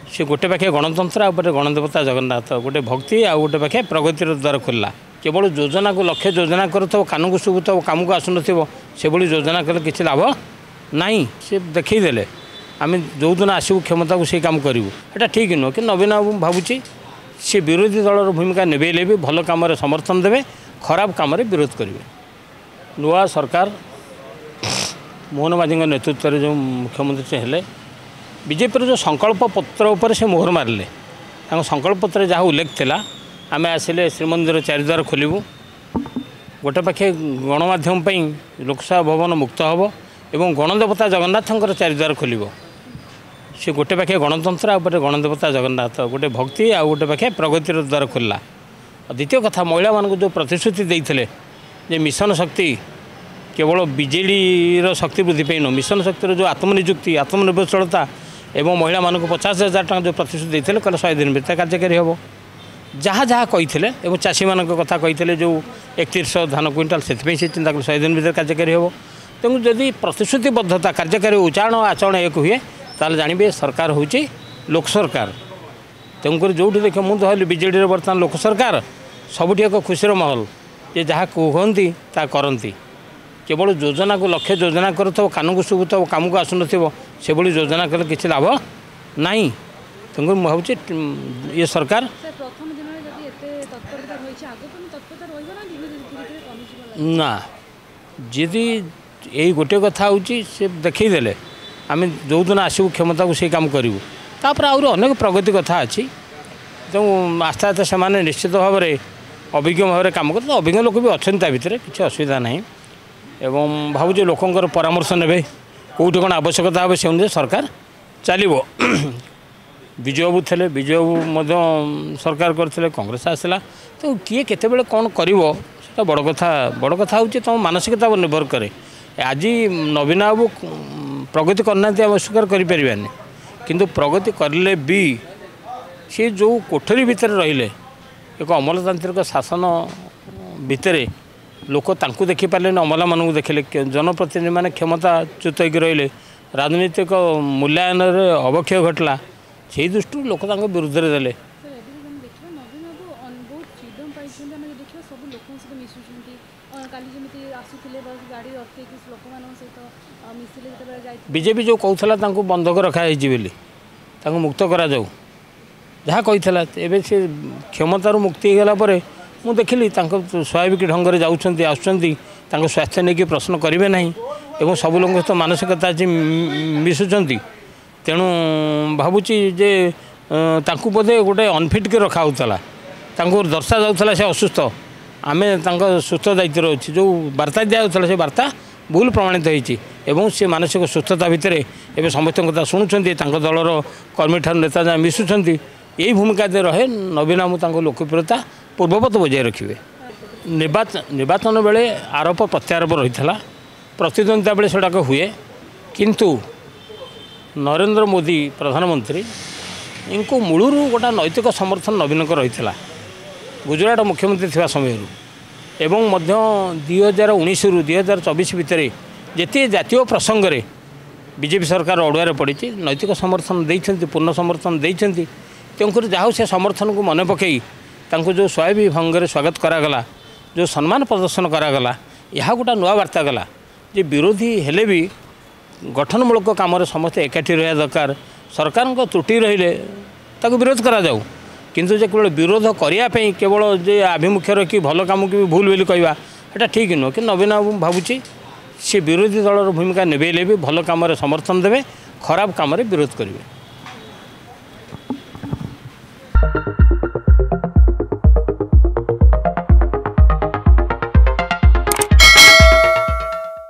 ସେ ଗୋଟେ ପାଖେ ଗଣତନ୍ତ୍ର ଆଉ ଗୋଟେ ଗଣଦେବତା ଜଗନ୍ନାଥ, ଗୋଟେ ଭକ୍ତି ଆଉ ଗୋଟେ ପାଖେ ପ୍ରଗତିର ଦ୍ୱାର ଖୋଲିଲା। କେବଳ ଯୋଜନାକୁ ଲକ୍ଷ୍ୟ ଯୋଜନା କରୁଥିବ, କାନକୁ ଶୁଭୁଥିବ, କାମକୁ ଆସୁନଥିବ, ସେଭଳି ଯୋଜନା କଲେ କିଛି ଲାଭ ନାହିଁ। ସେ ଦେଖେଇଦେଲେ ଆମେ ଯେଉଁଦିନ ଆସିବୁ କ୍ଷମତାକୁ ସେଇ କାମ କରିବୁ, ଏଇଟା ଠିକ୍ ନୁହଁ। କିନ୍ତୁ ନବୀନ ବାବୁ ଭାବୁଛି ସେ ବିରୋଧୀ ଦଳର ଭୂମିକା ନିଭେଇଲେ ବି ଭଲ କାମରେ ସମର୍ଥନ ଦେବେ, ଖରାପ କାମରେ ବିରୋଧ କରିବେ। ନୂଆ ସରକାର ମୋହନ ମାଝୀଙ୍କ ନେତୃତ୍ୱରେ ଯେଉଁ ମୁଖ୍ୟମନ୍ତ୍ରୀ ହେଲେ, ବିଜେପିର ଯେଉଁ ସଂକଳ୍ପ ପତ୍ର ଉପରେ ସେ ମୋହର ମାରିଲେ। ତାଙ୍କ ସଂକଳ୍ପ ପତ୍ରରେ ଯାହା ଉଲ୍ଲେଖ ଥିଲା, ଆମେ ଆସିଲେ ଶ୍ରୀମନ୍ଦିର ଚାରିଦ୍ୱାର ଖୋଲିବୁ, ଗୋଟେ ପାଖେ ଗଣମାଧ୍ୟମ ପାଇଁ ଲୋକସଭା ଭବନ ମୁକ୍ତ ହେବ ଏବଂ ଗଣଦେବତା ଜଗନ୍ନାଥଙ୍କର ଚାରିଦ୍ୱାର ଖୋଲିବ। ସେ ଗୋଟେ ପାଖେ ଗଣତନ୍ତ୍ର ଆଉ ଗୋଟେ ଗଣଦେବତା ଜଗନ୍ନାଥ, ଗୋଟେ ଭକ୍ତି ଆଉ ଗୋଟେ ପାଖେ ପ୍ରଗତିର ଦ୍ୱାର ଖୋଲିଲା। ଆଉ ଦ୍ୱିତୀୟ କଥା, ମହିଳାମାନଙ୍କୁ ଯେଉଁ ପ୍ରତିଶ୍ରୁତି ଦେଇଥିଲେ ଯେ ମିଶନ ଶକ୍ତି କେବଳ ବିଜେଡ଼ିର ଶକ୍ତି ବୃଦ୍ଧି ପାଇଁ ନୁହଁ, ମିଶନ ଶକ୍ତିର ଯେଉଁ ଆତ୍ମନିଯୁକ୍ତି, ଆତ୍ମନିର୍ଭରଶୀଳତା ଏବଂ ମହିଳାମାନଙ୍କୁ 50,000 ଟଙ୍କା ଯେଉଁ ପ୍ରତିଶ୍ରୁତି ଦେଇଥିଲେ, କହିଲେ 100 ଦିନ ଭିତରେ କାର୍ଯ୍ୟକାରୀ ହେବ। ଯାହା ଯାହା କହିଥିଲେ ଏବଂ ଚାଷୀମାନଙ୍କ କଥା କହିଥିଲେ ଯେଉଁ 3100 ଧାନ କୁଇଣ୍ଟାଲ, ସେଥିପାଇଁ ସେ ଚିନ୍ତା କଲେ 100 ଦିନ ଭିତରେ କାର୍ଯ୍ୟକାରୀ ହେବ। ତେଣୁ ଯଦି ପ୍ରତିଶ୍ରୁତିବଦ୍ଧତା କାର୍ଯ୍ୟକାରୀ ଉଚ୍ଚାରଣ ଆଚରଣ ଏକ ହୁଏ, ତାହେଲେ ଜାଣିବେ ସରକାର ହେଉଛି ଲୋକ ସରକାର। ତେଣୁକରି ଯେଉଁଠି ଦେଖିବ, ମୁଁ ତ ହେଲି ବିଜେଡ଼ିର ବର୍ତ୍ତମାନ ଲୋକ ସରକାର, ସବୁଠି ଏକ ଖୁସିର ମାହୋଲ ଯେ ଯାହା କୁହନ୍ତି ତାହା କରନ୍ତି। କେବଳ ଯୋଜନାକୁ ଲକ୍ଷ୍ୟ ଯୋଜନା କରୁଥିବ, କାନକୁ ଶୁଭୁଥିବ, କାମକୁ ଆସୁନଥିବ, ସେଭଳି ଯୋଜନା କଲେ କିଛି ଲାଭ ନାହିଁ। ତେଣୁକରି ମୁଁ ଭାବୁଛି ଇଏ ସରକାର ନା, ଯଦି ଏଇ ଗୋଟିଏ କଥା ହେଉଛି ସେ ଦେଖେଇଦେଲେ ଆମେ ଯେଉଁଦିନ ଆସିବୁ କ୍ଷମତାକୁ ସେଇ କାମ କରିବୁ। ତାପରେ ଆହୁରି ଅନେକ ପ୍ରଗତି କଥା ଅଛି। ତେଣୁ ଆସ୍ତେ ଆସ୍ତେ ସେମାନେ ନିଶ୍ଚିତ ଭାବରେ ଅଭିଜ୍ଞ ଭାବରେ କାମ କରୁଛନ୍ତି। ଅଭିଜ୍ଞ ଲୋକ ବି ଅଛନ୍ତି ତା ଭିତରେ, କିଛି ଅସୁବିଧା ନାହିଁ। ଏବଂ ଭାବୁଛି ଲୋକଙ୍କର ପରାମର୍ଶ ନେବେ, କେଉଁଠି କ'ଣ ଆବଶ୍ୟକତା ହେବ ସେ ଅନୁଯାୟୀ ସରକାର ଚାଲିବ। ବିଜୁବାବୁ ଥିଲେ, ବିଜୁବାବୁ ମଧ୍ୟ ସରକାର କରିଥିଲେ, କଂଗ୍ରେସ ଆସିଲା। ତ କିଏ କେତେବେଳେ କ'ଣ କରିବ ସେଟା ବଡ଼ କଥା। ବଡ଼ କଥା ହେଉଛି ତୁମ ମାନସିକତା ଉପରେ ନିର୍ଭର କରେ। ଆଜି ନବୀନ ବାବୁ ପ୍ରଗତି କରିନାହାନ୍ତି ଆମେ ଅସ୍ୱୀକାର କରିପାରିବାନି, କିନ୍ତୁ ପ୍ରଗତି କରିଲେ ବି ସେ ଯେଉଁ କୋଠରୀ ଭିତରେ ରହିଲେ, ଏକ ଅମଲାତାନ୍ତ୍ରିକ ଶାସନ ଭିତରେ ଲୋକ ତାଙ୍କୁ ଦେଖିପାରିଲେନି, ଅମଲାମାନଙ୍କୁ ଦେଖିଲେ। ଜନପ୍ରତିନିଧିମାନେ କ୍ଷମତାଚ୍ୟୁତ ହେଇକି ରହିଲେ, ରାଜନୈତିକ ମୂଲ୍ୟାୟନରେ ଅବକ୍ଷୟ ଘଟିଲା। ସେଇ ଦୃଷ୍ଟିରୁ ଲୋକ ତାଙ୍କ ବିରୁଦ୍ଧରେ ଦେଲେ। ବିଜେପି ଯେଉଁ କହୁଥିଲା ତାଙ୍କୁ ବନ୍ଧକ ରଖାଯାଇଛି ବୋଲି, ତାଙ୍କୁ ମୁକ୍ତ କରାଯାଉ ଯାହା କହିଥିଲା, ଏବେ ସେ କ୍ଷମତାରୁ ମୁକ୍ତି ହେଇଗଲା ପରେ ମୁଁ ଦେଖିଲି ତାଙ୍କ ସ୍ୱାଭାବିକ ଢଙ୍ଗରେ ଯାଉଛନ୍ତି ଆସୁଛନ୍ତି, ତାଙ୍କ ସ୍ୱାସ୍ଥ୍ୟ ନେଇକି ପ୍ରଶ୍ନ କରିବେ ନାହିଁ ଏବଂ ସବୁ ଲୋକଙ୍କ ସହିତ ମାନସିକତା ଆଜି ମିଶୁଛନ୍ତି। ତେଣୁ ଭାବୁଛି ଯେ ତାଙ୍କୁ ବୋଧେ ଗୋଟେ ଅନଫିଟ୍ କରି ରଖାହେଉଥିଲା, ତାଙ୍କୁ ଦର୍ଶାଯାଉଥିଲା ସେ ଅସୁସ୍ଥ, ଆମେ ତାଙ୍କ ସୁସ୍ଥ ଦାୟିତ୍ୱରେ ଅଛି। ଯେଉଁ ବାର୍ତ୍ତା ଦିଆଯାଉଥିଲା ସେ ବାର୍ତ୍ତା ଭୁଲ ପ୍ରମାଣିତ ହେଇଛି ଏବଂ ସେ ମାନସିକ ସୁସ୍ଥତା ଭିତରେ ଏବେ ସମସ୍ତଙ୍କ କଥା ଶୁଣୁଛନ୍ତି, ତାଙ୍କ ଦଳର କର୍ମୀଠାରୁ ନେତା ଯାଏଁ ମିଶୁଛନ୍ତି। ଏଇ ଭୂମିକା ଯଦି ରହେ, ନବୀନ ବାବୁ ତାଙ୍କ ଲୋକପ୍ରିୟତା ପୂର୍ବବତ ବଜାୟ ରଖିବେ। ନିର୍ବାଚନ ବେଳେ ଆରୋପ ପ୍ରତ୍ୟାରୋପ ରହିଥିଲା, ପ୍ରତିଦ୍ୱନ୍ଦିତା ବେଳେ ସେଗୁଡ଼ାକ ହୁଏ, କିନ୍ତୁ ନରେନ୍ଦ୍ର ମୋଦି ପ୍ରଧାନମନ୍ତ୍ରୀ ଙ୍କୁ ମୂଳରୁ ଗୋଟା ନୈତିକ ସମର୍ଥନ ନବୀନଙ୍କ ରହିଥିଲା ଗୁଜୁରାଟ ମୁଖ୍ୟମନ୍ତ୍ରୀ ଥିବା ସମୟରୁ, ଏବଂ ମଧ୍ୟ 2019ରୁ 2024 ଭିତରେ ଯେତିକି ଜାତୀୟ ପ୍ରସଙ୍ଗରେ ବିଜେପି ସରକାର ଅଡ଼ୁଆରେ ପଡ଼ିଛି, ନୈତିକ ସମର୍ଥନ ଦେଇଛନ୍ତି, ପୂର୍ଣ୍ଣ ସମର୍ଥନ ଦେଇଛନ୍ତି। ତେଣୁକରି ଯାହା ହଉ ସେ ସମର୍ଥନକୁ ମନେ ପକାଇ ତାଙ୍କୁ ଯେଉଁ ସ୍ୱାଭାବିକ ଭଙ୍ଗରେ ସ୍ୱାଗତ କରାଗଲା, ଯେଉଁ ସମ୍ମାନ ପ୍ରଦର୍ଶନ କରାଗଲା, ଏହା ଗୋଟା ନୂଆ ବାର୍ତ୍ତା ଗଲା ଯେ ବିରୋଧୀ ହେଲେ ବି ଗଠନମୂଳକ କାମରେ ସମସ୍ତେ ଏକାଠି ରହିବା ଦରକାର। ସରକାରଙ୍କ ତ୍ରୁଟି ରହିଲେ ତାକୁ ବିରୋଧ କରାଯାଉ, କିନ୍ତୁ ଯେ କେବଳ ବିରୋଧ କରିବା ପାଇଁ କେବଳ ଯେ ଆଭିମୁଖ୍ୟ ରଖି ଭଲ କାମକୁ ବି ଭୁଲ ବୋଲି କହିବା, ଏଇଟା ଠିକ୍ ନୁହଁ। କିନ୍ତୁ ନବୀନ ବାବୁ ଭାବୁଛି ସେ ବିରୋଧୀ ଦଳର ଭୂମିକା ନିଭେଇଲେ ବି ଭଲ କାମରେ ସମର୍ଥନ ଦେବେ, ଖରାପ କାମରେ ବିରୋଧ କରିବେ।